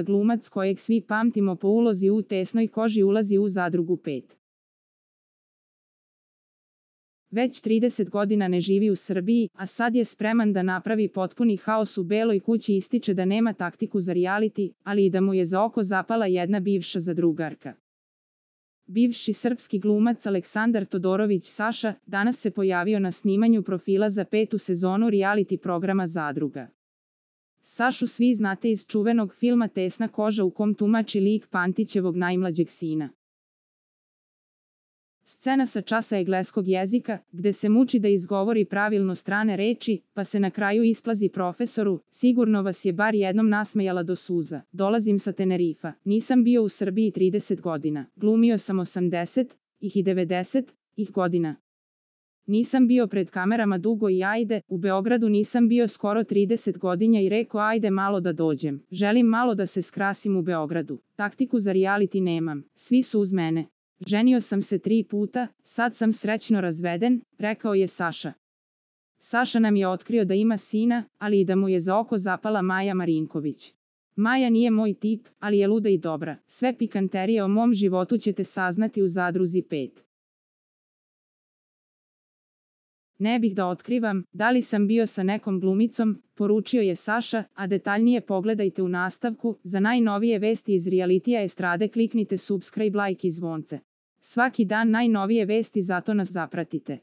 glumac kojeg svi pamtimo po ulozi u Tesnoj koži ulazi u Zadrugu 5. Već 30 godina ne živi u Srbiji, a sad je spreman da napravi potpuni haos u Beloj kući. Ističe da nema taktiku za reality, ali i da mu je za oko zapala jedna bivša zadrugarka. Bivši srpski glumac Aleksandar Todorović Saša danas se pojavio na snimanju profila za 5. sezonu reality programa Zadruga. Sašu svi znate iz čuvenog filma Tesna koža u kom tumači lik Pantićevog najmlađeg sina. Scena sa časa engleskog jezika, gde se muči da izgovori pravilno strane reči, pa se na kraju isplazi profesoru: sigurno vas je bar jednom nasmejala do suza. Dolazim sa Tenerifa, nisam bio u Srbiji 30 godina, glumio sam 80 i 90 godina. Nisam bio pred kamerama dugo i ajde, u Beogradu nisam bio skoro 30 godina i rekao ajde malo da dođem. Želim malo da se skrasim u Beogradu. Taktiku za reality nemam, svi su uz mene. Ženio sam se 3 puta, sad sam srećno razveden, rekao je Saša. Saša nam je otkrio da ima sina, ali i da mu je za oko zapala Maja Marinković. Maja nije moj tip, ali je luda i dobra. Sve pikanterije o mom životu ćete saznati u Zadruzi 5. Ne bih da otkrivam da li sam bio sa nekom glumicom, poručio je Saša, a detaljnije pogledajte u nastavku. Za najnovije vesti iz realitija estrade kliknite subscribe, like i zvonce. Svaki dan najnovije vesti, zato nas zapratite.